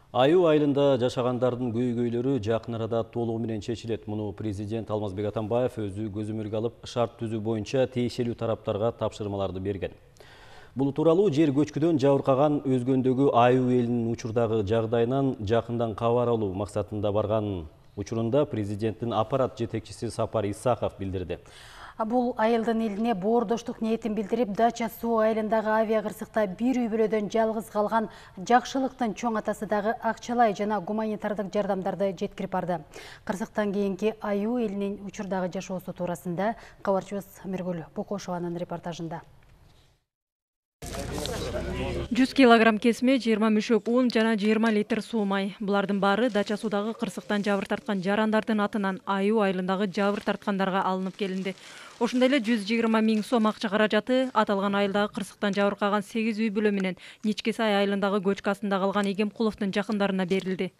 Аюу айылында жашагандардын көйгөйлөрү жакын арада толугу менен чечилет. Муну президент Алмазбек Атамбаев өзү көзөмөлгө алып, шарт түзүү боюнча тиешелүү тараптарга тапшырмаларды берген. Бул тууралуу жер көчкүдөн жабыркаган Өзгөндөгү аюу элинин учурдагы жагдайынан жакындан кабар алуу максатында барган учурунда президенттин аппарат жетекчиси Сапар Исаков билдирди. Бул айылдын элине боордоштук ниетин билдирип, Дача суу айылындагы авиа кырсыкта бир үй бүлөдөн жалгыз калган Жакшылыктын чоң атасы дагы акчалай жана гуманитардык жардамдарды жеткирип барды. Кырсыктан кийинки аюу элинин учурдагы жашоосу туурасында кабарчыбыз Миргүл Бокошованын репортажында. 100 килограмм кесме, 20 мүшөк un жана 20 литр суу май. Булардын баары Дача суудагы кырсыктан жабыр тарткан жарандардын атынан аюу айылындагы жабыр тарткандарга алынып келинди. Ошондой эле 120 000 сом акча каражаты аталган айылдагы кырсыктан жабыркаган 8 үй бүлө менен Ничкесай айылындагы көчкү астында калган Игемкуловдун жакындарына берилди.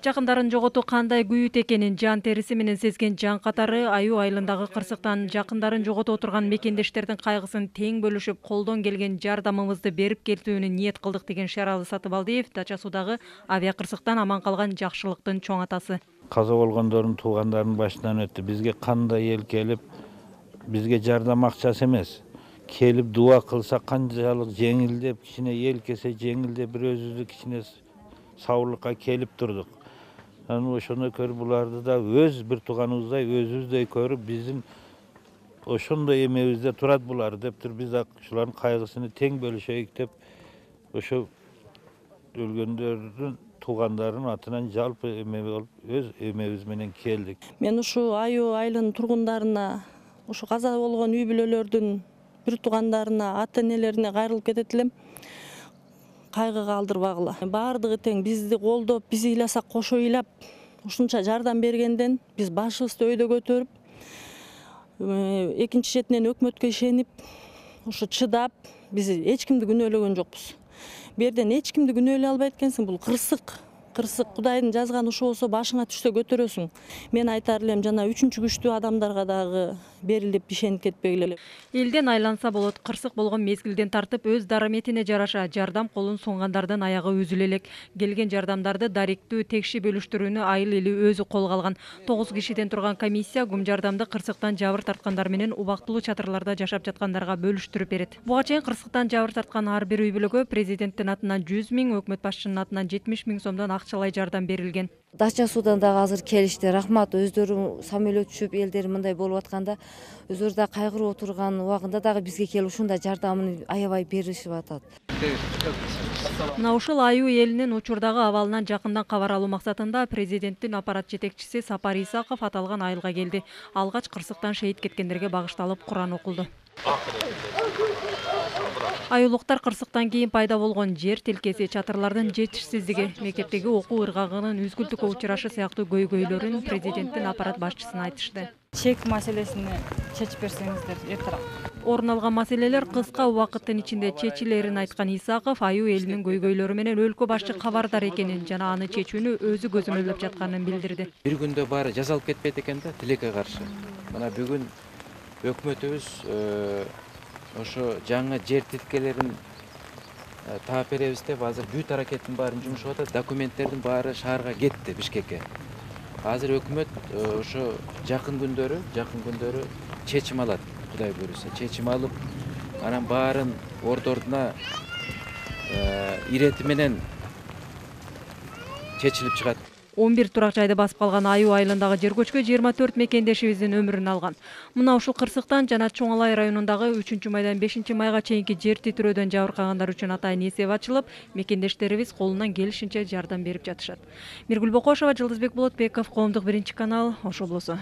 Жакындарын жоготуу кандай күйүт экенин жан териси менен сезген жан катары аюу айылындагы кырсыктан жакындарын жогото отурган мекендештердин кайгысын тең бөлүшүп, колдон келген жардамыбызды берип келтүүнү ниет кылдык деген Шералы Сатыбалдиев Дача суудагы авиа кырсыктан аман калган Жакшылыктын чоң атасы. Каза болгондордун туугандарынын башынан өттү. Бизге кандай эл келип, бизге жардам акчасы эмес, келип дуа кылса канчалык жеңилдеп, кичине эл келсе жеңилдеп, бир өзүбүздү кичине саулыкка келип турдук. Анан ошондой көрүп, буларды да өз бир тууганыбыздай, өзүбүздөй көрүп, биздин ошондой эмебизде турат булар деп туруп, биз да ушулардын кайгысын тең бөлүшөйүк деп, ошо өлгөндөрдүн туугандарынын атынан жалпы эме болуп, өз эмебиз менен келдик. Мен ушу аюу айылынын тургундарына, ушу каза болгон үй бүлөлөрдүн бир туугандарына, ата-энелерине кайрылып кетет элем. Кайгыга алдырбагыла. Баардыгы тең бизди колдоп, биз ыйласак кошо ыйлап, ушунча жардам бергенден биз башыбызды өйдө көтөрүп, экинчи четинен өкмөткө ишенип, ушу чыдап, биз эч кимди күнөөлөгөн жокпуз. Бу жерден эч кимди күнөөлөй албайт экенсиң, бул кырсык. Кырсык Кудайдын жазганы ушу болсо башыңа түшсө көтөрөсүң. Мен айтар элем, жана үчүнчү күчтүү адамдарга дагы берилип ишенип кетпегиле. Элден айланса болот. Кырсык болгон мезгилден тартып өз дараметине жараша жардам колун сунгандардын аягы үзүлө элек. Келген жардамдарды даректүү, текши бөлүштүрүүнү айыл эли өзү колго алган. 9 кишиден турган комиссия гум жардамды кырсыктан жабыр тарткандар менен убактылуу чатырларда жашап жаткандарга бөлүштүрүп берет. Буга чейин кырсыктан жабыр тарткан ар бир үй бүлөгө президенттин атынан 100 000, өкмөт башчынын атынан 70 000 сомдон акчалай жардам берилген. Дача суудан дагы азыр келишти. Рахмат, өздөрү самолет түшүп, элдер мындай болуп атканда, өздөрү да кайгырып отурган убагында дагы бизге келип ушундай жардамын аябай беришип атат. Мына ушул аюу элинин учурдагы абалынан жакындан кабар алуу максатында президенттин аппарат жетекчиси Сапар Исаков аталган айылга келди. Алгач кырсыктан шейит кеткендерге багышталып Куран окулду. Аюулуктар кырсыктан кийин пайда болгон жер тилкеси, чатырлардын жетишсиздиги, мектептеги окуу ыргагынын үзгүлтүккө учурашы сыяктуу көйгөйлөрүн президенттин аппарат башчысына айтышты. Чек маселесин чечип берсеңиздер эртерээк. Орун алган маселелер кыска убакыттын ичинде чечилерин айткан Исаков аюу элинин көйгөйлөрү менен өлкө башчы кабардар экенин жана аны чечүүнү өзү көзөмөлдөп жатканын билдирди. Бир күндө баары жазалып кетпейт экен да, тилекке каршы. Мына бүгүн өкмөтүбүз ошо жаңы жер тилкелерин таап беребиз деп азыр бүт аракеттин баарын жумшап атат. Документтердин баары шаарга кетти, Бишкекке. Азыр өкмөт ошо жакын күндөрү чечим алат, Кудай буйруса. Чечим алып, анан баарын ордуна ирети менен чечилип чыгат. 11 турак жайды басып калган аюу айылындагы жер көчкү 24 мекендешибиздин өмүрүн алган. Мына ушул кырсыктан жана Чоң Алай районундагы 3-майдан 5-майга чейинки жер титирөөдөн жабыркагандар үчүн атайын эсеп ачылып, мекендештерибиз колунан келишинче жардам берип жатышат. Миргүл Бокошова, Жылдызбек Болотбеков, Коомдук 1 канал, Ош облусу.